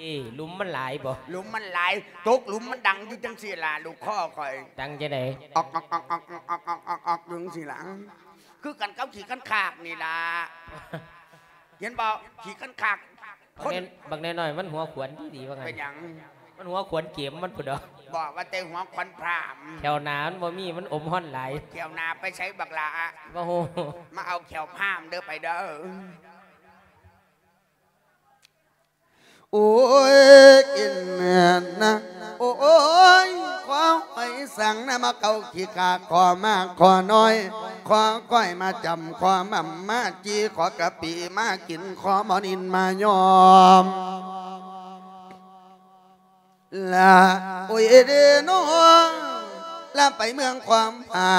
ເອີ ຫຼຸມມັນຫຼາຍບໍ່? ຫຼຸມມັນຫຼາຍ ຕົກຫຼຸມມັນດັງຢູ່ຈັ່ງຊີ້ລະ ລູກຄໍຂ້ອຍ ດັງຈັ່ງໃດ? ອອກໆໆໆໆໆ ຢູ່ຈັ່ງຊີ້ລະ ຄືກັນກັບຂີ້ຄັນຄາກນີ້ລະ ເຫັນບໍ່? ຂີ້ຄັນຄາກ ບັກແນ ຄົນ ບັກນ້ອຍໆ ມັນຫົວຂວັນດີໆ ວ່າຊັ້ນ ເປັນຫຍັງ? ມັນຫົວຂວັນເກມມັນພຸ້ນດອກ ບໍ່ ວ່າແຕ່ຫົວຂວັນພຣາມ ແຂ້ວໜ້າມັນບໍ່ມີ ມັນອົມຮອນຫຼາຍ ແຂ້ວໜ້າໄປໃສບັກຫຼ້າ? ບໍ່ຮູ້ ມາເອົາແຂ້ວພຣາມເດີ ໄປເດີ. ໂອ້ຍ ກິນນະ ໂອ້ຍ ຂໍຫອຍສັງນະ ມາເກົາຂີ້ກາ ຂໍມາ ຂໍນ້ອຍ ຂໍກ້ອຍມາຈຳ ຂໍໝ່ຳມາຈີ ຂໍກະປິມາກິນ ຂໍໝໍນິນມາຍອມ ລະ ໂອ້ຍເດໂນ ລະໄປເມືອງຂວາມຜາ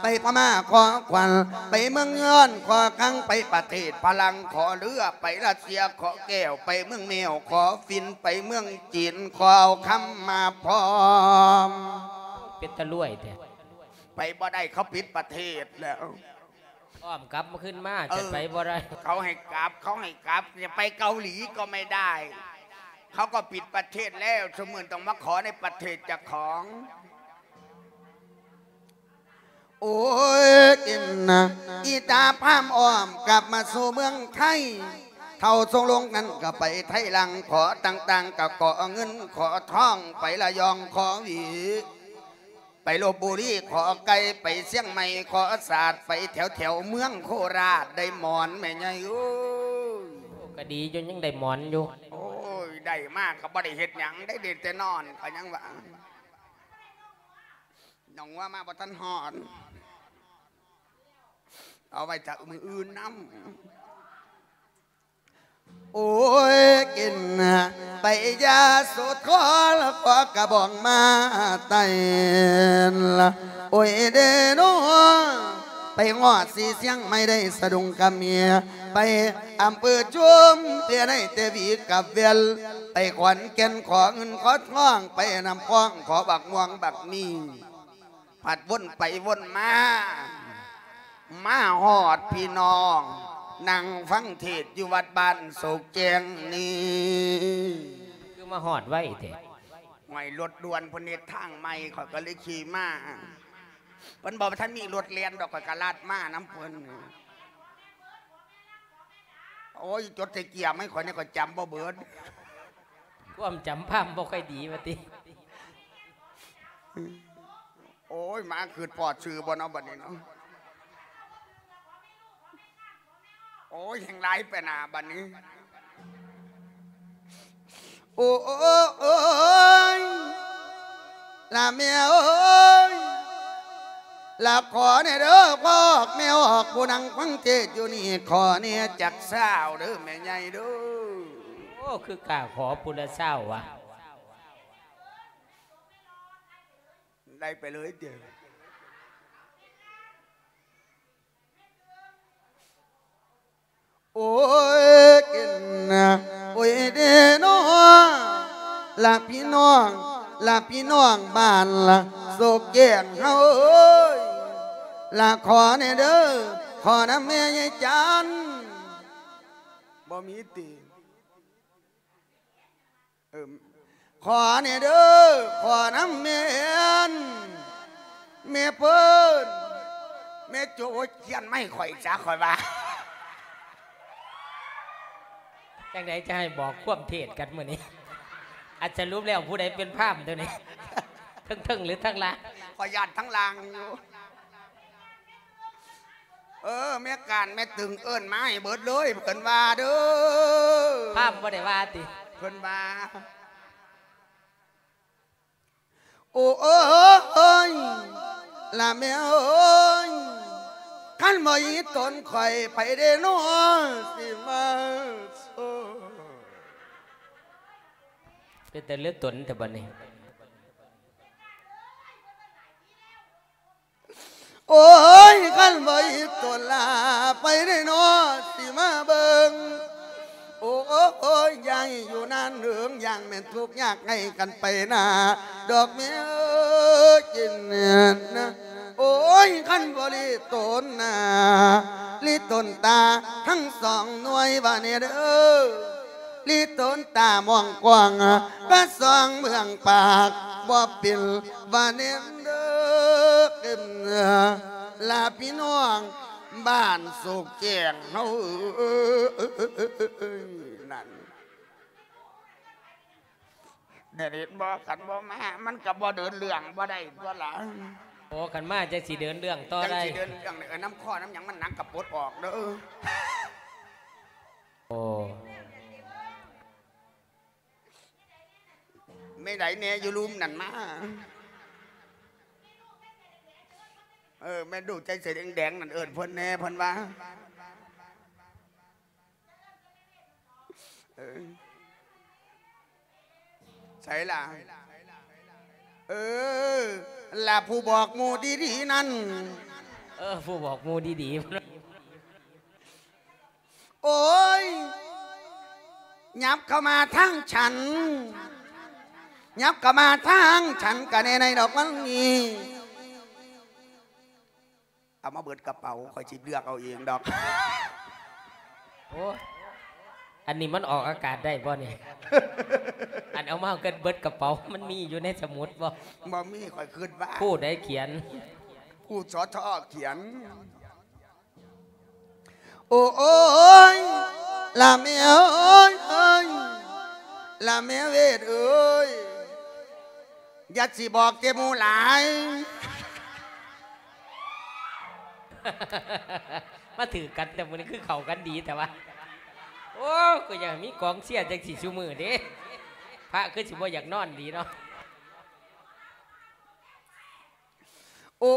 ໄປພະມ້າຂໍຂວັນ ໄປເມືອງຍອນຂໍຄັງ ໄປປະເທດຝຣັ່ງຂໍເຫຼືອ ໄປຣັດເຊຍຂໍແກ້ວ ໄປເມືອງແມວຂໍຝິ່ນ ໄປເມືອງຈີນຂໍເອົາຄຳມາພ້ອມ. ເປັນຕາລວຍແທ້. ໄປບໍ່ໄດ້ ເຂົາປິດປະເທດແລ້ວ. ອ້ອມກັບມາຄືນມາ ເອີ ຈະໄປບໍ່ໄດ້. ເຂົາໃຫ້ກັບ ເຂົາໃຫ້ກັບ ຈະໄປເກົາຫຼີກໍໄມ່ໄດ້ ເຂົາກໍປິດປະເທດແລ້ວ ຊຸມື້ຕ້ອງມາຂໍໃນປະເທດເຈົ້າຂອງ. ໂອ້ຍ ກິນນະ ອີຕາພາມອ້ອມກັບມາສູ່ເມືອງໄທ ເຖົ້າຊົງລົງນັ້ນກໍໄປໄທຫຼັງ ຂໍຕ່າງໆ ກໍຂໍເງິນ ຂໍທອງ ໄປລະຍອງ ຂໍຫວີ ໄປລົບບຸລີ ຂໍໄກ່ ໄປຊຽງໃໝ່ ຂໍສາດ ໄປແຖວໆ ເມືອງໂຄລາດ ໄດ້ໝອນແມ່ໃຫຍ່ເອີຍ. ໂອ້ ກໍດີຢູ່ ຍັງໄດ້ໝອນຢູ່. ໂອ້ຍ ໄດ້ມາກໍບໍ່ໄດ້ເຮັດຫຍັງ ໄດ້ ໄດ້ແຕ່ນອນ ກໍຍັງວ່າ ນ້ອງວ່າມາບໍ່ທັນຮອດ ເອົາໄວ້ຖ້າມື້ອື່ນນຳ. ໂອ້ຍ ກິນ ໄປຢາໂສທອນ ຂໍກະບອງມາໄຕ້ ໂອ້ຍເດໂນ ໄປຮອດສີຊຽງໃໝ່ ໄດ້ສະດຸງກະເມຍ ໄປອຳເພີຊຸມເພຍ ໄດ້ແຕ່ຫວີກັບແວ່ນ ໄປຂອນແກ່ນ ຂໍເງິນຂໍທອງ ໄປນ້ຳພອງ ຂໍບັກມ່ວງບັກມີ ພັດວົນໄປວົນມາ ມາຮອດພີ່ນ້ອງ ນັ່ງຟັງເທດຢູ່ວັດບ້ານໂສກແຈ້ງນີ້. ຄືມາຮອດໄວແທ້? ຫ້ວຍ ລົດດ່ວນເພິ່ນເຮັດທາງໃໝ່ ຂ້ອຍກໍເລີຍຂີ່ມາ. ເພິ່ນບໍ່ທັນມີລົດແລ່ນດອກ ຂ້ອຍກໍລັດມານຳເພິ່ນ. ໂອ້ຍ ຈົດໃສ່ເກຍໃຫ້ຂ້ອຍແດ່ ຂ້ອຍຈຳບໍ່ເບີດ. ຄວາມຈຳພາມບໍ່ຄ່ອຍດີວ່າຕິ. ໂອ້ຍ ມາຄຶດພໍດຊື່ບໍ່ເນາະ ບັດນີ້ເນາະ. ໂອ້ຍ ແຮ່ງຫຼາຍໄປໜ້າບັດນີ້. ໂອ້ຍ ລະແມ່ເອີຍ ລະຂໍແດ່ເດີ ພວກແມ່ອອກ ຜູ້ນັ່ງຟັງເທດຢູ່ນີ້ ຂໍແດ່ຈັກຊາວເດີ ແມ່ໃຫຍ່ເດີ. ໂອ້ ຄືກ້າຂໍຜູ້ລະຊາວວະ. ໄດ້ໄປເລີຍເດີ. ໂອ້ຍ ກິນນະ ໂອ້ຍເດໂນ ລະພີ່ນ້ອງ ລະພີ່ນ້ອງບ້ານລະໂສກແກ້ງເຮົາເອີຍ ລະຂໍແດ່ເດີ ຂໍນຳແມ່ຍາຍຈັນ. ບໍ່ມີຕິ. ເອີ ຂໍແດ່ເດີ ຂໍນຳແມ່ອັນ ແມ່ເພິ່ນ ແມ່ໂຈ ໂອ້ຍ ຂຽນມາໃຫ້ຂ້ອຍຊະ ຂ້ອຍວ່າ. ຈັ່ງໃດຈະໃຫ້ບອກຄວາມເທດກັນມື້ນີ້? ອັນສະຫຼຸບແລ້ວຜູ້ໃດເປັນພາມໂຕນີ້? ເທິງໆ ຫຼືທາງລ່າງ? ຂ້ອຍຢ້ານທາງລ່າງຢູ່. ເອີ ແມ່ການແມ່ຕຶງເອີ້ນມາໃຫ້ເບິດເລີຍ ເພິ່ນວ່າເດີ. ພາມບໍ່ໄດ້ວ່າຕິ? ເພິ່ນວ່າ ໂອ້ຍ ລະແມ່ເອີຍ ຄັນບໍ່ອີຕົນຂ້ອຍ ໃຜເດເນາະຊິມາໂຊ. ເປັນຕາເຫຼືອຕົນແຕ່ບັດນີ້. ໂອ້ຍ ຄັນບໍ່ອີຕົນລະ ໃຜເດເນາະຊິມາເບິ່ງ. ໂອ້ຍ ຢ່າໃຫ້ຢູ່ນານເຫິງ ຢ້ານແມ່ນທຸກຍາກໃຫ້ກັນໄປໜ້າ ດອກແມ່ເອີຍ ກິນນະ. ໂອ້ຍ ຄັນບໍ່ລີຕົນໜ້າ ລີຕົນຕາທັງສອງໜ່ວຍວ່າແດ່ເດີ. ອີຕົນຕາມອງກວ້າງ ກະສ່ອງເບື້ອງປາກ ບໍ່ເປັນວ່າແນມເດີ ລະພີ່ນ້ອງບ້ານໂສກແຈ້ງເຮົາເອີຍ ນັ້ນ ແມ່ນເຫັນບໍ່? ຄັນບໍ່ມາ ມັນກະບໍ່ເດີນເລື່ອງບໍ່ໄດ້ຕົວລະ. ໂອ້ ຄັນມາຈັ່ງຊິເດີນເລື່ອງຕໍ່ໄດ້ ຈັ່ງຊິເດີນເລື່ອງໄດ້. ເອີ ນຳຄໍນຳຫຍັງມັນໜັກກະປົດອອກເດີ. ໂອ້ ແມ່ໃດແນ່ຢູ່ລຸ່ມນັ້ນມາ. ເອີ ແມ່ລູກໃຈສີແດງໆນັ້ນ ເອີ້ນເພິ່ນແນ່ ເພິ່ນວ່າ ເອີ ໃສລະ? ເອີ ລະຜູ້ບອກໝູ່ດີໆນັ້ນ. ເອີ ຜູ້ບອກໝູ່ດີໆ. ໂອ້ຍ ຫຍັບເຂົ້າມາທາງສັນ ຫຍັບເຂົ້າມາທາງສັນກະແນ່ໃນດອກມັນນີ້. ເອົາມາເບິດກະເປົາ ຂ້ອຍຊິເລືອກເອົາເອງດອກ. ໂອ້ ອັນນີ້ມັນອອກອາກາດໄດ້ບໍ່ນີ້? ອັນເອົາມາເບິດກະເປົາ ມັນມີຢູ່ໃນສະໝຸດບໍ່? ບໍ່ມີ ຂ້ອຍຄິດວ່າ ຜູ້ໃດຂຽນ? ຜູ້ ສທ ຂຽນ. ໂອ້ຍ ລະແມ່ເອີຍ ເອີຍ ລະແມ່ເວດເອີຍ ຢ່າຊິບອກແຕ່ໝູ່ຫຼາຍ. ມາຖືກກັນແຕ່ມື້ນີ້ ຄືເຂົ້າກັນດີແທ້ວະ. ໂອ້ ກໍຢາກມີກອງເຊຍຈັ່ງຊີ້ຊຸມື້ເດ້ ພະຄືຊິບໍ່ຢາກນອນດີເນາະ. ໂອ້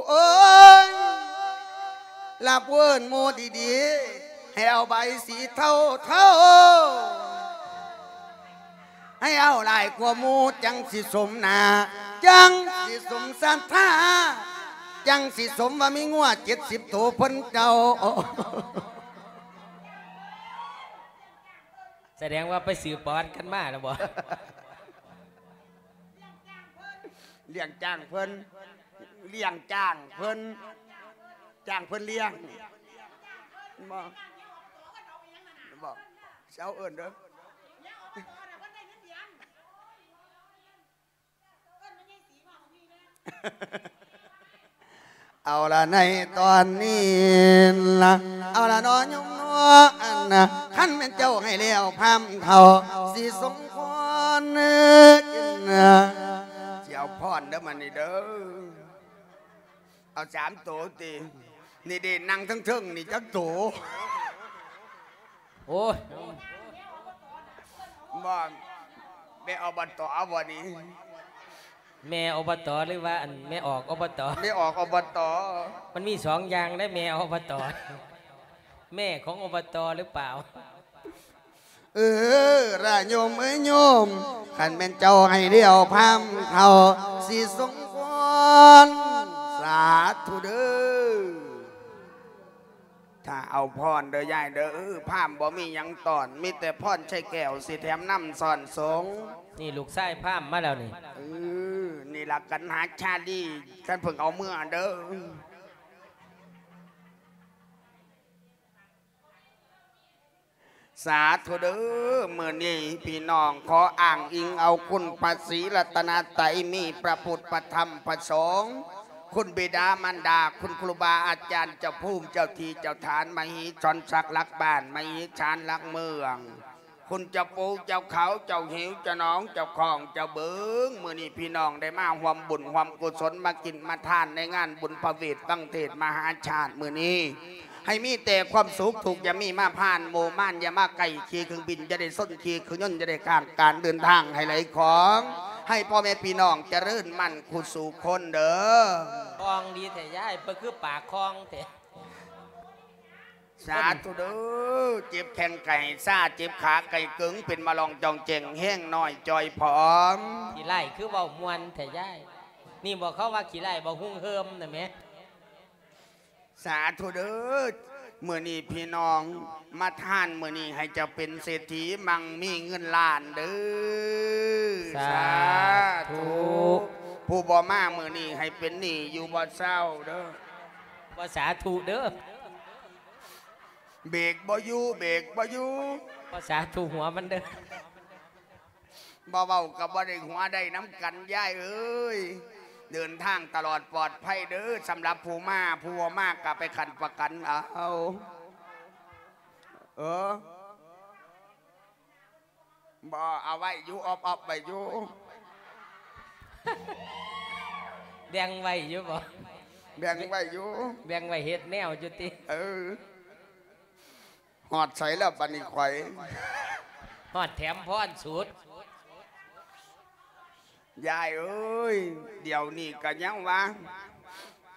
ຍ ລະເອີ້ນໝູ່ດີໆ ໃຫ້ເອົາໃບສີເທົາໆ ໃຫ້ເອົາຫຼາຍກວ່າໝູ່ ຈັ່ງຊິສົມໜ້າ ຈັ່ງຊິສົມສັດທາ ຈັ່ງຊິສົມວ່າມີງົວເຈັດສິບໂຕເພິ່ນເຈົ້າ. ສະແດງວ່າໄປສືບປະຫວັດກັນມາແລ້ວບໍ່? ລ້ຽງຈ້າງເພິ່ນ ລ້ຽງຈ້າງເພິ່ນ ຈ້າງເພິ່ນລ້ຽງ ບໍ່ ບໍ່ ຊິເອົາເອີ້ນເດີ. ເອົາລະ ໃນຕອນນີ້ລະ ເອົາລະເນາະໂຍມເນາະ ອັນນະ ຄັນແມ່ນເຈົ້າໃຫ້ແລ້ວພາມເຖົ້າ ຊິສົມພອນກິນນະ ຊິເອົາພອນເດີ ມານີ້ເດີ ເອົາສາມໂຕຕິ ນີ້ເດ້ ນັ່ງເທິງໆນີ້ຈັກໂຕ? ໂອ້ຍ ບໍ່ ແມ່ ອບຕ ບໍ່ນີ້? ແມ່ ອບຕ ຫຼືວ່າ ອັນ ແມ່ອອກ ອບຕ? ແມ່ອອກ ອບຕ ມັນມີສອງຢ່າງເດ້ ແມ່ ອບຕ ແມ່ຂອງ ອບຕ ຫຼືເປົ່າ? ເອີ ລະໂຍມເອີຍໂຍມ ຄັນແມ່ນເຈົ້າໃຫ້ແລ້ວພາມເຖົ້າ ຊິສົມພອນ ສາທຸເດີ. ຖ້າເອົາພອນເດີຍາຍເດີ ພາມບໍ່ມີຫຍັງຕ້ອນ ມີແຕ່ພອນໃສ່ແກ້ວ ຊິແຖມນຳຊ້ອນສົງ. ນີ້ລູກຊາຍພາມມາແລ້ວນີ້ ເອີ ນີ້ລະກັນຫາຊາລີ ຄັນເພິ່ງເອົາເມືອເດີ. ສາທຸເດີ ມື້ນີ້ພີ່ນ້ອງຂໍອ້າງອີງເອົາຄຸນພະສີລັດຕະນະໄຕ ມີພະພຸດ ພະທຳ ພະສົງ ຄຸນບິດາມານດາ ຄຸນຄູບາອາຈານ ເຈົ້າພູມເຈົ້າທີ່ເຈົ້າຖານ ມະຮີສອນສັກຫຼັກບ້ານ ມະຮີສານຫຼັກເມືອງ ຄຸນເຈົ້າປູເຈົ້າເຂົາ ເຈົ້າຫິວ ເຈົ້າໜອງ ເຈົ້າຂອງ ເຈົ້າບຶງ ມື້ນີ້ພີ່ນ້ອງໄດ້ມາຮ່ວມບຸນຮ່ວມກຸສົນ ມາກິນມາທານໃນງານບຸນພະເວດວັງເທດມະຫາຊາດມື້ນີ້ ໃຫ້ມີແຕ່ຄວາມສຸກ ທຸກຢ່າມີມາຜ່ານ ໂມມານຢ່າມາໃກ້ ຂີ່ເຄື່ອງບິນຢ່າໄດ້ຊົນ ຂີ່ເຄື່ອງຍົນຢ່າໄດ້ຂ້າງ ການເດີນທາງໃຫ້ໄຫຼຂອງ ໃຫ້ພໍ່ແມ່ພີ່ນ້ອງຈະເລີນໝັ້ນຄູ່ສູ່ຄົນເດີ. ຄອງດີແທ້ຍາຍ ເພິ່ນຄືປາກຄອງແທ້. ສາທຸເດີ ເຈັບແຂ້ງໄກ່ຊາ ເຈັບຂາໄກ່ເກີງ ເປັນມະລອງຈອງແຈງ ແຮງນ້ອຍຈ່ອຍຜອມ. ຂີ້ໄລ່ຄືເວົ້າມ່ວນແທ້ຍາຍ. ນີ້ບໍ່ ເຂົາວ່າຂີ້ໄລ່ບໍ່ຮຸ່ງເຮີມນະແມ. ສາທຸເດີ ມື້ນີ້ພີ່ນ້ອງມາທານ ມື້ນີ້ໃຫ້ເຈົ້າເປັນເສດຖີ ມັ່ງມີເງິນລ້ານເດີ. ສາທຸ. ສາທຸ. ຜູ້ບໍ່ມາມື້ນີ້ໃຫ້ເປັນໜີ້ຢູ່ບໍ່ເຊົາເດີ. ບໍ່ສາທຸເດີ. ເບກບໍ່ຢູ່ ເບກບໍ່ຢູ່. ບໍ່ສາທຸຫົວມັນເດີ. ບໍ່ເວົ້າກໍບໍ່ໄດ້ຫົວ ໄດ້ນຳກັນ ຍາຍເອີຍ. ເດີນທາງຕະຫຼອດປອດໄພເດີ ສຳລັບຜູ້ມາ, ຜູ້ບໍ່ມາກໍໄປຂັ້ນປະກັນເອົາ. ເອີ ບໍ່ ເອົາໄວ້ຢູ່ ອອບໆໄວ້ຢູ່. ແບ່ງໄວ້ຢູ່ບໍ່? ແບ່ງໄວ້ຢູ່. ແບ່ງໄວ້ເຮັດແນວຢູ່ຕິ? ເອີ. ຮອດໃສແລ້ວບັດນີ້ຂ້ອຍ? ຮອດແຖມພອນສຸດ. ຍາຍເອີຍ ດຽວນີ້ກໍຍັງວ່າ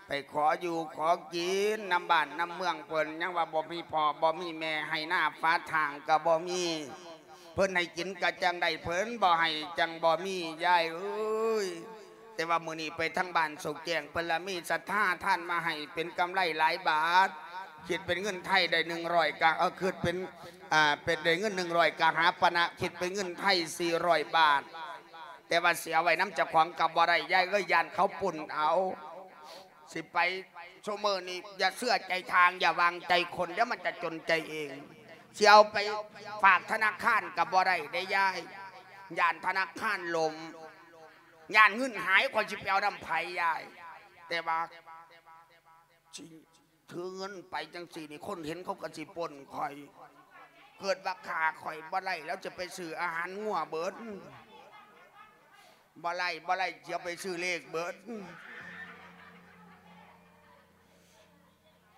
ໄປຂໍຢູ່ຂໍກິນນຳບ້ານນຳເມືອງເພິ່ນ ຍັງວ່າບໍ່ມີພໍ່ບໍ່ມີແມ່ ໄຮ່ນາຝາທາງກໍບໍ່ມີ. ເພິ່ນໃຫ້ກິນກໍຈັ່ງໄດ້ ເພິ່ນບໍ່ໃຫ້ຈັ່ງບໍ່ມີ ຍາຍເອີຍ. ແຕ່ວ່າມື້ນີ້ໄປທາງບ້ານໂຊກແຈ້ງ ເພິ່ນລະມີສັດທາທານມາໃຫ້ເປັນກຳໄລຫຼາຍບາດ ຄິດເປັນເງິນໄທໄດ້ໜຶ່ງຮ້ອຍກະ ເອີ ຄິດເປັນ ອ່າ ເປັນໄດ້ເງິນໜຶ່ງຮ້ອຍກະຫາປະນະ ຄິດເປັນເງິນໄທສີ່ຮ້ອຍບາດ. ແຕ່ວ່າຊິເອົາໄວ້ນຳເຈົ້າຂອງກໍບໍ່ໄດ້ ຍາຍເອີຍ ຢ້ານເຂົາປຸ້ນເອົາ. ຊິໄປຊຸມື້ນີ້ ຢ່າເຊື່ອໃຈທາງ ຢ່າວາງໃຈຄົນ ດຽວມັນຈະຈົນໃຈເອງ. ຊິເອົາໄປຝາກທະນາຄານກໍບໍ່ໄດ້ເດ້ຍາຍ ຢ້ານທະນາຄານລົ້ມ. ຢ້ານເງິນຫາຍ ຂ້ອຍຊິໄປເອົານຳໃຜຍາຍ? ແຕ່ວ່າຊິຖືເງິນໄປຈັ່ງຊີ້ນີ້ ຄົນເຫັນເຂົາກໍຊິປົ້ນຂ້ອຍ. ເກີດວ່າຂ້າຂ້ອຍບໍ່ໄດ້ ແລ້ວຈະໄປຊື້ອາຫານງົວເບິດ. ບໍ່ໄດ້ ບໍ່ໄດ້ ຊິເອົາໄປຊື້ເລກເບິດ.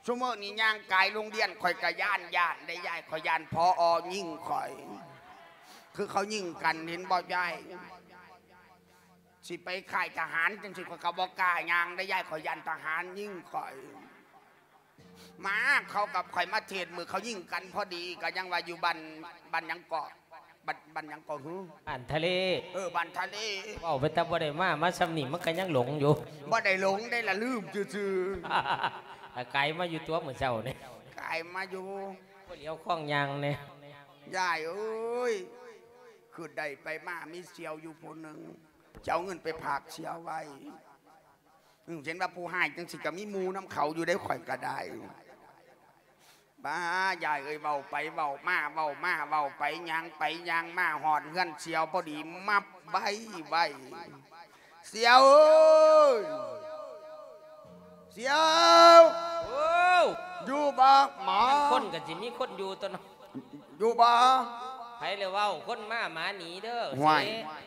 ຊຸມື້ນີ້ຍ່າງກາຍໂຮງຮຽນ ຂ້ອຍກໍຢ້ານ ຢ້ານໄດ້ຍາຍ ຂ້ອຍຢ້ານ ຜອ ຍິງຂ້ອຍ. ຄືເຂົາຍິງກັນ ເຫັນບໍ່ຍາຍ? ຊິໄປຄ້າຍທະຫານຈັ່ງຊີ້ ຂ້ອຍກໍບໍ່ກ້າຍ່າງໄດ້ຍາຍ ຂ້ອຍຢ້ານທະຫານຍິງຂ້ອຍ. ມາ ເຂົາກັບຂ້ອຍມາເທດ ມື້ເຂົາຍິງກັນພໍດີ ກໍຍັງວ່າຢູ່ບ້ານ ບ້ານຫຍັງເກາະ ບ້ານ ບ້ານຫຍັງເກາະຫື? ບ້ານທະເລ. ເອີ ບ້ານທະເລ. ເວົ້າໄປແຕ່ບໍ່ໄດ້ມາ ມາຊ່ຳນີ້ມັນກໍຍັງຫຼົງຢູ່. ບໍ່ໄດ້ຫຼົງໄດ໋ລະ ລືມຊື່ໆ. ກາຍມາຢູ່ຕົວະມື້ເຊົ້ານີ້ ກາຍມາຢູ່. ບໍ່ຫຼຽວຄອງຍ່າງແດ່. ຍາຍເອີຍ ຄືໄດ້ໄປມາ ມີສ່ຽວຢູ່ຜູ້ໜຶ່ງ ຈະເອົາເງິນໄປຝາກສ່ຽວໄວ້. ອື ເຫັນວ່າຜູ້ຮ້າຍຈັ່ງຊີ້ກໍມີໝູ່ນຳເຂົາຢູ່ເດ້ ຂ້ອຍກໍໄດ້. ບ້າ ຍາຍເອີຍ ເວົ້າໄປເວົ້າມາ ເວົ້າມາເວົ້າໄປ ຍ່າງໄປຍ່າງມາ ຮອດເຮືອນສ່ຽວພໍດີ ມັບໄວ້ໄວ້. ສ່ຽວເອີຍ ສ່ຽວ. ໂອ້ ຢູ່ບໍ່ໝໍ? ຄົນກໍຊິມີຄົນຢູ່ຕົວະເນາະ. ຢູ່ບໍ່? ໃຜລະເວົ້າ ຄົນມາໝາໜີເດີ. ຫ້ວຍ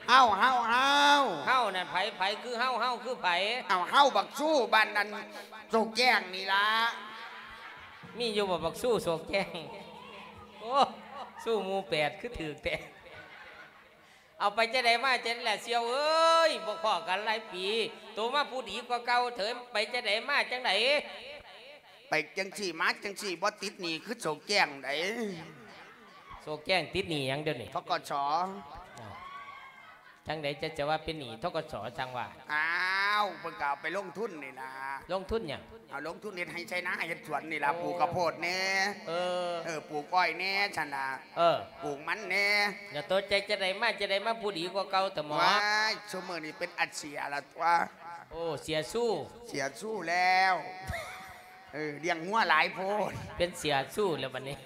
ເຮົາ ເຮົາ ເຮົາ ເຮົານັ້ນໃຜ? ໃຜຄືເຮົາ? ເຮົາຄືໃຜ? ເອົາ ເຮົາບັກຊູ້ບ້ານນັ້ນ ໂຊກແຈ້ງນີ້ລະ. ມີຢູ່ບໍ່ບັກຊູ້ໂຊກແຈ້ງ? ໂອ້ ຊູ້ໝູ່ແປດ ຄືຖືກແທ້. ເອົາ ໄປຈັ່ງໃດມາຈັ່ງໃດລະສ່ຽວເອີຍ? ບໍ່ພໍ້ກັນຫຼາຍປີ ໂຕມາຜູ້ດີກວ່າເກົ່າເຖີ້. ໄປຈັ່ງໃດມາຈັ່ງໃດ? ໄປຈັ່ງຊີ້ມາຈັ່ງຊີ້ ບໍ່ຕິດໜີ້ຄືໂຊກແຈ້ງໃດ໋. ໂຊກແຈ້ງຕິດໜີ້ຫຍັງດຽວນີ້? ທກສ. ເອົ້າ ຈັ່ງໃດຈະ ຈະວ່າເປັນໜີ້ ທກສ ຈັ່ງວ່າ? ອ້າວ ເພິ່ນກໍເອົາໄປລົງທຶນນີ້ລະ. ລົງທຶນຫຍັງ? ເອົາລົງທຶນເຮັດໄຮ່ໄຖນາເຮັດສວນນີ້ລະ. ໂອ້ ປູກກະໂພດແດ່ ເອີ ເອີ ປູກອ້ອຍແດ່ຊັ້ນລະ. ເອີ ປູກມັນແດ່. ແລ້ວໂຕໃຈຈະໄດ້ມາ ຈະໄດ້ມາຜູ້ດີກວ່າເກົ່າຕະໝໍ? ວ້າຍ ຊຸມື້ນີ້ເປັນອາເຊຍລະຕົວະ. ໂອ້ ເສຍຊູ້ ເສຍຊູ້ແລ້ວ. ເອີ ລ້ຽງງົວຫຼາຍໂພດ ເປັນເສຍຊູ້ແລ້ວບັດນີ້.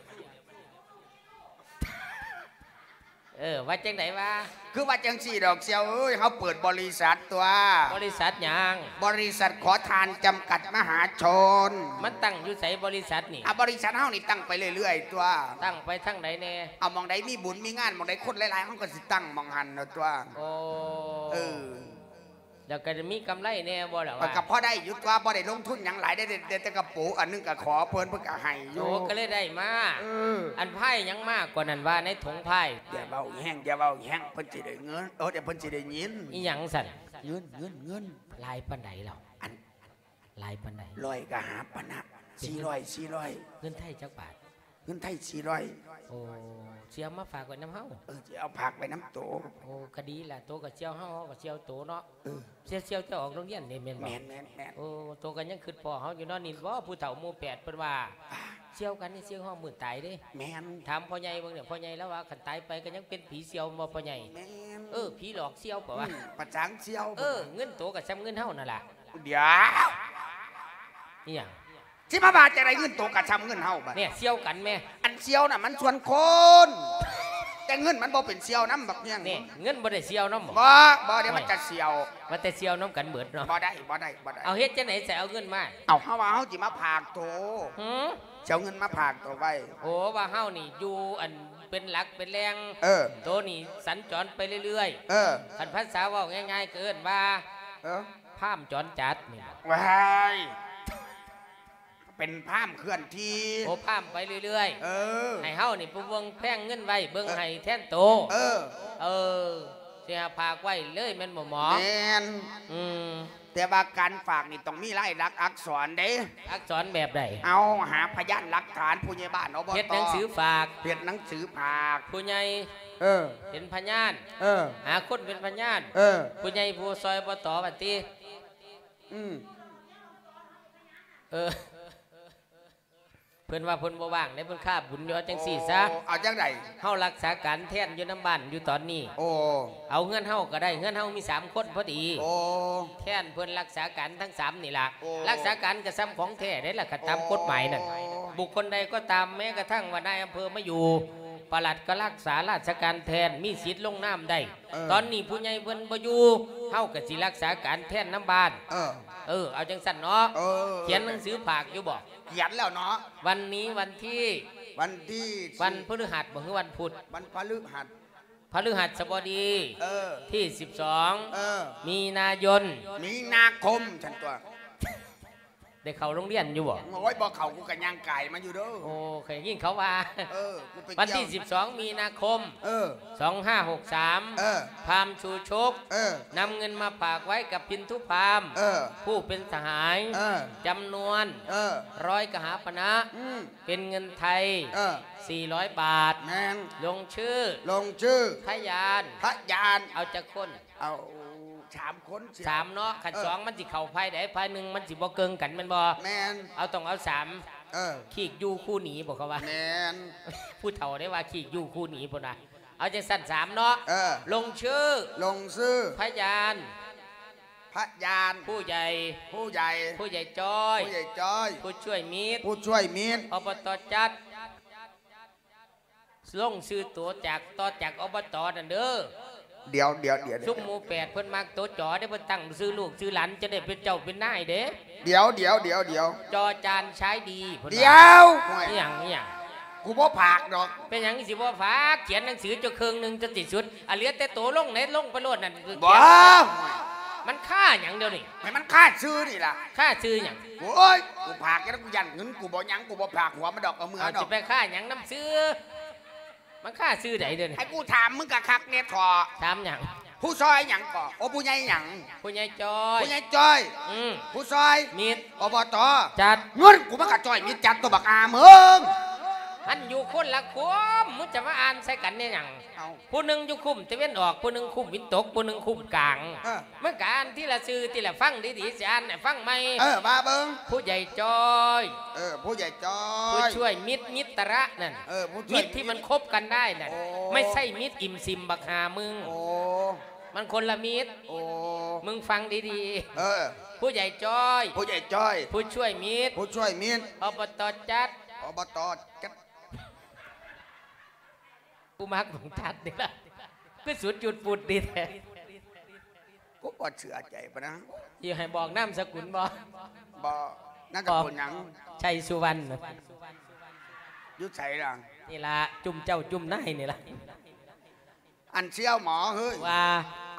ເອີ ວ່າຈັ່ງໃດວະ? ຄືວ່າຈັ່ງຊີ້ດອກສ່ຽວເອີຍ ເຮົາເປີດບໍລິສັດຕົວະ. ບໍລິສັດຫຍັງ? ບໍລິສັດຂໍທານຈຳກັດມະຫາຊົນ. ມັນຕັ້ງຢູ່ໃສບໍລິສັດນີ້? ອາ ບໍລິສັດເຮົານີ້ຕັ້ງໄປເລື້ອຍໆຕົວະ. ຕັ້ງໄປທາງໃດແດ່? ເອົາ ໝ່ອງໃດມີບຸນມີງານ ໝ່ອງໃດຄົນຫຼາຍໆ ເຮົາກໍຊິຕັ້ງໝ່ອງຫັ້ນເນາະຕົວະ. ໂອ້ ເອີ ແລ້ວກໍມີກຳໄລແດ່ບໍ່ລະວະ? ກໍພໍໄດ້ຢູ່ຕົວະ ບໍ່ໄດ້ລົງທຶນຫຍັງຫຼາຍເດ້ ໄດ້ແຕ່ກະໂປອັນໜຶ່ງກໍຂໍເພິ່ນ ເພິ່ນກໍໃຫ້ຢູ່. ໂອ້ ກໍເລີຍໄດ້ມາ. ເອີ ອັນພາຍຫຍັງມາກ່ອນນັ້ນວ່າໃນຖົງພາຍ? ຢ່າເວົ້າແຮງ ຢ່າເວົ້າແຮງ ເພິ່ນຊິໄດ້ເງິນ ເອີ ດຽວເພິ່ນຊິໄດ້ຍິນ. ອີຫຍັງຊັ້ນ? ເງິນ ເງິນ ເງິນ. ຫຼາຍປານໃດລະ? ອັນ ຫຼາຍປານໃດ? ຮ້ອຍກະຫາປານະ. ສີ່ຮ້ອຍ ສີ່ຮ້ອຍ. ເງິນໄທຈັກບາດ? ເງິນໄທສີ່ຮ້ອຍ. ໂອ້ ຊິເອົາມາຝາກໄວ້ນຳເຮົາ? ເອີ ຊິເອົາຝາກໄວ້ນຳໂຕ. ໂອ້ ກະດີລະ ໂຕກະສ່ຽວເຮົາ ເຮົາກະສ່ຽວໂຕເນາະ. ເອີ ສ່ຽວ ສ່ຽວເຈົ້າອອກໂຮງຮຽນເດ້ແມ່ນບໍ່? ແມ່ນ ແມ່ນ ແມ່ນ. ໂອ້ ໂຕກະຍັງຄຶດພໍ້ເຮົາຢູ່ເນາະ. ນີ້ບໍ່ ຜູ້ເຖົ້າໝູ່ແປດເພິ່ນວ່າ ສ່ຽວກັນນີ້ສ່ຽວຮອດມື້ຕາຍເດ້. ແມ່ນ. ຖາມພໍ່ໃຫຍ່ເບິ່ງເດີ ພໍ່ໃຫຍ່ລາວວ່າຄັນຕາຍໄປກະຍັງເປັນຜີສ່ຽວບໍ່ພໍ່ໃຫຍ່? ແມ່ນ. ເອີ ຜີຫຼອກສ່ຽວເຂົາວ່າ. ອືມ ປະຈາງສ່ຽວ. ເອີ ເງິນໂຕກະສ່ຳເງິນເຮົານັ້ນລະ. ດຽວ ອີຫຍັງ? ຊິມາວ່າຈັ່ງໃດ ເງິນໂຕກະສ່ຳເງິນເຮົາບາດ. ແນ່ ສ່ຽວກັນແມ້. ອັນສ່ຽວນະມັນສ່ວນຄົນ. ແຕ່ເງິນມັນບໍ່ເປັນສ່ຽວນຳບັກແຍງ. ນີ້ ເງິນບໍ່ໄດ້ສ່ຽວນຳບໍ? ບໍ່ ບໍ່ ດຽວມັນຈະສ່ຽວ. ວ່າແຕ່ສ່ຽວນຳກັນເບິດເນາະ. ບໍ່ໄດ້ ບໍ່ໄດ້ ບໍ່ໄດ້. ເອົາ ເຮັດຈັ່ງໃດ ໃສເອົາເງິນມາ? ເອົາ ເຮົາວ່າເຮົາຊິມາຝາກໂຕ. ຫື? ຊິເອົາເງິນມາຝາກໂຕໄວ້. ໂອ້ ວ່າເຮົານີ້ຢູ່ອັນເປັນຫຼັກເປັນແຫຼ່ງ. ເອີ ໂຕນີ້ສັນຈອນໄປເລື້ອຍໆ. ເອີ ຄັນພາສາເວົ້າງ່າຍໆ ກໍເອີ້ນວ່າ ເອີ ພາມຈອນຈັດນີ້. ວ້າຍ ເປັນພາມເຄື່ອນທີ່. ໂອ້ ພາມໄປເລື້ອຍໆ. ເອີ ໃຫ້ເຮົານີ້ຜູ້ເບິ່ງແພງເງິນໄວ້ ເບິ່ງ ເອີ ໃຫ້ແທນໂຕ. ເອີ ເອີ ຊິໃຫ້ຝາກໄວ້ເລີຍແມ່ນບໍ່ໝໍ? ແມ່ນ. ອືມ ແຕ່ວ່າການຝາກນີ້ຕ້ອງມີລາຍລັກອັກສອນເດ້. ອັກສອນແບບໃດ? ເອົາ ຫາພະຍານຫຼັກຖານ ຜູ້ໃຫຍ່ບ້ານ ອບຕ. ເຮັດໜັງສືຝາກ. ເຮັດໜັງສືຝາກ. ຜູ້ໃຫຍ່ ເອີ ເປັນພະຍານ. ເອີ ຫາຄົນເປັນພະຍານ. ເອີ ຜູ້ໃຫຍ່ຜູ້ຊ່ອຍ ອບຕ ວ່າຕິ. ອືມ ເອີ ເພິ່ນວ່າເພິ່ນບໍ່ວ່າງເດ້ ເພິ່ນຄາບຸນຢູ່. ເອົາຈັ່ງຊີ້ຊະ. ໂອ້ ເອົາຈັ່ງໃດ? ເຮົາລັກສາການແທນຢູ່ນຳບ້ານຢູ່ຕອນນີ້. ໂອ້ ເອົາເຮືອນເຮົາກໍໄດ້ ເຮືອນເຮົາມີສາມຄົນພໍດີ. ໂອ້ ແທນເພິ່ນລັກສາການທັງສາມນີ້ລະ. ໂອ້ ລັກສາການກໍສ່ຳຂອງແທ້ເດ້ລະ ຄັນຕາມກົດໝາຍນັ້ນ. ໂອ້ ບຸກຄົນໃດກໍຕາມ ແມ້ກະທັ່ງວ່ານາຍອຳເພີມາຢູ່ ປະຫຼັດກໍລັກສາລາຊະການແທນ ມີສິດລົງນາມໄດ້. ເອີ ຕອນນີ້ຜູ້ໃຫຍ່ເພິ່ນບໍ່ຢູ່ ເຮົາກໍຊິລັກສາການແທນນຳບ້ານ. ເອີ ເອີ ເອົາຈັ່ງຊັ້ນເນາະ. ເອີ ຂຽນໜັງສືຝາກຢູ່ບໍ? ຂຽນແລ້ວເນາະ. ວັນນີ້ວັນທີ ວັນທີ ວັນພຶດຫັດບໍ ຫຼືວັນພຸດ? ວັນພະພຶຫັດ. ພະພຶຫັດສະບໍດີ. ເອີ ທີສິບສອງ. ເອີ ມີນາຍົນ. ມີນາຄົມຊັ້ນຕົວະ. ໄດ້ເຂົ້າໂຮງຮຽນຢູ່ບໍ່? ໂອ້ຍ ບໍ່ເຂົ້າ ກູກໍຍ່າງກາຍມາຢູ່ເດີ. ໂອ້ ເຄີຍໄດ້ຍິນເຂົາວ່າ. ເອີ ກູໄປ ວັນທີສິບສອງມີນາຄົມ ເອີ ສອງຫ້າຫົກສາມ ເອີ ພາມຊູຊົກ ເອີ ນຳເງິນມາຝາກໄວ້ກັບພິນທຸພາມ ເອີ ຜູ້ເປັນສະຫາຍ ເອີ ຈຳນວນ ເອີ ຮ້ອຍກະຫາປະນະ ອືມ ເປັນເງິນໄທ ເອີ ສີ່ຮ້ອຍບາດ. ແມ່ນ. ລົງຊື່ ລົງຊື່ ພະຍານ ພະຍານ ເອົາຈັກຄົນ? ເອົາສາມຄົນ. ສາມເນາະ. ຄັນ ເອີ ສອງມັນຊິເຂົ້າຝ່າຍໃດ? ຝ່າຍໜຶ່ງມັນຊິບໍ່ເກີງກັນແມ່ນບໍ່? ແມ່ນ. ເອົາ ຕ້ອງເອົາສາມ. ເອີ ຄີກຢູ່ຄູ່ໜີບໍ ເຂົາວ່າ. ແມ່ນ. ຜູ້ເຖົ້າໄດ້ວ່າຄີກຢູ່ຄູ່ໜີພຸ້ນນະ. ເອົາຈັ່ງຊັ້ນ ສາມເນາະ. ເອີ ລົງຊື່ ລົງຊື່ ພະຍານ ພະຍານ ຜູ້ໃຫຍ່ ຜູ້ໃຫຍ່ ຜູ້ໃຫຍ່ຈ້ອຍ ຜູ້ໃຫຍ່ຈ້ອຍ ຜູ້ຊ່ວຍມິດ ຜູ້ຊ່ວຍມິດ ອບຕ ຈັດ. ລົງຊື່ໂຕຈາກ ຕໍ່ຈາກ ອບຕ ນັ້ນເດີ. ດຽວ ດຽວ ດຽວ ຊຸມໝູ່ແປດເພິ່ນມັກໂຕ ຈ ເດ້ ເພິ່ນຕັ້ງຊື່ລູກຊື່ຫຼານ ຈະໄດ້ເປັນເຈົ້າເປັນນາຍເດ້. ດຽວ ດຽວ ດຽວ ດຽວ ຈ ຈານ ຊາຍດີ ເພິ່ນວ່າ. ດຽວ ອີ່ຫຍັງ ອີ່ຫຍັງ? ກູບໍ່ຝາກດອກ. ເປັນຫຍັງຊິບໍ່ຝາກ? ຂຽນໜັງສືຈົນເຄິ່ງໜຶ່ງຈົນສິ້ນສຸດ ອາ ເຫຼືອແຕ່ໂຕລົງເນ ລົງໄປໂລດນັ້ນ. ບໍ່ ມັນຄາຫຍັງດຽວນີ້? ໃຫ້ມັນຄາຊື່ນີ້ລະ. ຄາຊື່ຫຍັງ? ໂອ້ຍ ກູຝາກຈັ່ງນັ້ນ ກູຢ້ານເງິນ ກູບໍ່ຫຍັງ ກູບໍ່ຝາກຫົວມັນດອກ ເອົາເມືອ ເອົາດອກ. ຊິໄປຄາຫຍັງນຳຊື່? ມັນຄາຊື່ໃດເດີນີ້? ໃຫ້ກູຖາມມຶງກະຄັກແດ່ເຖາະ. ຖາມຫຍັງ? ຜູ້ຊ່ອຍຫຍັງເກາະ? ໂອ້ ຜູ້ໃຫຍ່ຫຍັງ? ຜູ້ໃຫຍ່ຈ້ອຍ. ຜູ້ໃຫຍ່ຈ້ອຍ. ອືມ. ຜູ້ຊ່ອຍ? ມິດ. ອບຕ. ຈັດ. ເງິນກູມັນກະຈ້ອຍມິດຈັດຕົວະບັກອາມຶງ. ມັນຢູ່ຄົນລະຄຸ້ມ ມຶງຈະມາອ່ານໃສ່ກັນແນວຫຍັງ? ເອົ້າ ຜູ້ໜຶ່ງຢູ່ຄຸ້ມຕາເວັນອອກ ຜູ້ໜຶ່ງຄຸ້ມຕາເວັນຕົກ ຜູ້ໜຶ່ງຄຸ້ມກາງ. ເອີ ມັນກະອ່ານທີລະຊື່ ທີລະ ຟັງດີໆ ຊິອ່ານໃຫ້ຟັງໃໝ່. ເອີ ວ່າເບິ່ງ. ຜູ້ໃຫຍ່ຈ້ອຍ. ເອີ ຜູ້ໃຫຍ່ຈ້ອຍ. ຜູ້ຊ່ວຍມິດ ມິດຕະລະນັ້ນ. ເອີ ຜູ້ຊ່ວຍມິດ ມິດທີ່ມັນຄົບກັນໄດ້ນັ້ນ. ໂອ້ ໄມ່ໃຊ່ມິດອີ່ມຊິມບັກຫ່າມຶງ. ໂອ້ ມັນຄົນລະມິດ. ໂອ້ ມຶງຟັງດີໆ. ເອີ ຜູ້ໃຫຍ່ຈ້ອຍ. ຜູ້ໃຫຍ່ຈ້ອຍ. ຜູ້ຊ່ວຍມິດ. ຜູ້ຊ່ວຍມິດ. ອບຕ ຈັດ. ອບຕ ຈັດ. ກູມັກຂອງຈັດນີ້ລະ ຄືສຸດຈຸດປຸດດີແທ້. ກູບໍ່ເຊື່ອໃຈປານນັ້ນ. ຊິໃຫ້ບອກນາມສະກຸນບໍ່? ບໍ່. ນາມສະກຸນຫຍັງ? ໄຊສຸວັນ. ຢູ່ໃສລະ? ນີ້ລະ ຈຸ້ມເຈົ້າຈຸ້ມນາຍນີ້ລະ. ອັນສ່ຽວໝໍເຮີ້ຍ ວ່າ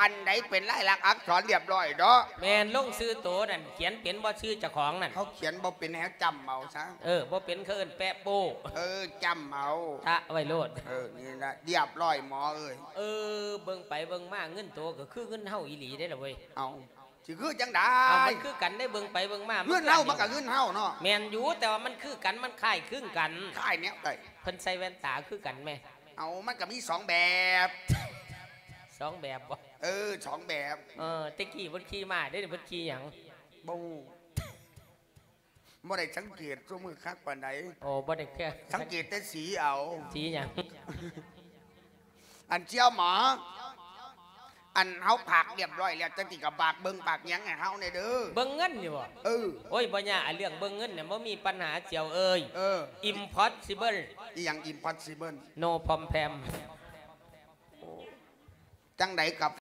ອັນໃດເປັນລາຍລັກອັກສອນລຽບລ້ອຍເນາະ? ແມ່ນ. ລົງຊື່ໂຕນັ້ນ ຂຽນເປັນບໍ່? ຊື່ເຈົ້າຂອງນັ້ນ ເຮົາຂຽນບໍ່ເປັນ ໃຫ້ເຮົາຈ້ຳເອົາຊະ. ເອີ ບໍ່ເປັນ ເຂົາເອີ້ນແປະໂປ້. ເອີ ຈ້ຳເອົາ ຕະໄວ້ໂລດ. ເອີ ນີ້ລະລຽບລ້ອຍໝໍເອີຍ. ເອີ ເບິ່ງໄປເບິ່ງມາ ເງິນໂຕກໍຄືເງິນເຮົາອີ່ຫຼີເດ້ລະເວີຍ. ເອົ້າ ຊິຄືຈັ່ງໃດ? ເອົ້າ ມັນຄືກັນເດ້ ເບິ່ງໄປເບິ່ງມາ ເງິນເຮົາມັນກໍເງິນເຮົາເນາະ. ແມ່ນຢູ່ ແຕ່ວ່າມັນຄືກັນ ມັນຄ້າຍຄືກັນ. ຄ້າຍແນວໃດ? ເພິ່ນໃສ່ແວ່ນຕາຄືກັນແມ. ເອົາ ມັນກໍມີສອງແບບ. ສອງແບບບໍ? ເອີ ສອງແບບ. ເອີ ແຕ່ກີ້ເພິ່ນຂີ່ມ້າເດ້ ເພິ່ນຂີ່ຫຍັງ? ບໍ່ຮູ້ ບໍ່ໄດ້ສັງເກດຊຸມື້ຄັກປານໃດ. ໂອ້ ບໍ່ໄດ້ແຄ່ ສັງເກດແຕ່ສີເອົາ. ສີຫຍັງ? ອັນສ່ຽວໝໍ ອັນເຮົາຝາກລຽບລ້ອຍແລ້ວ ຈັ່ງຊີ້ກໍຝາກເບິ່ງຝາກຫຍັງໃຫ້ເຮົາແດ່ເດີ. ເບິ່ງເງິນນີ້ບໍ? ເອີ. ໂອ້ຍ ບໍ່ຍາກ ອັນເລື່ອງເບິ່ງເງິນນະ ບໍ່ມີປັນຫາສ່ຽວເອີຍ. ເອີ impossible. ອີ່ຫຍັງ impossible? No problem. ຈັ່ງໃດກາແຟ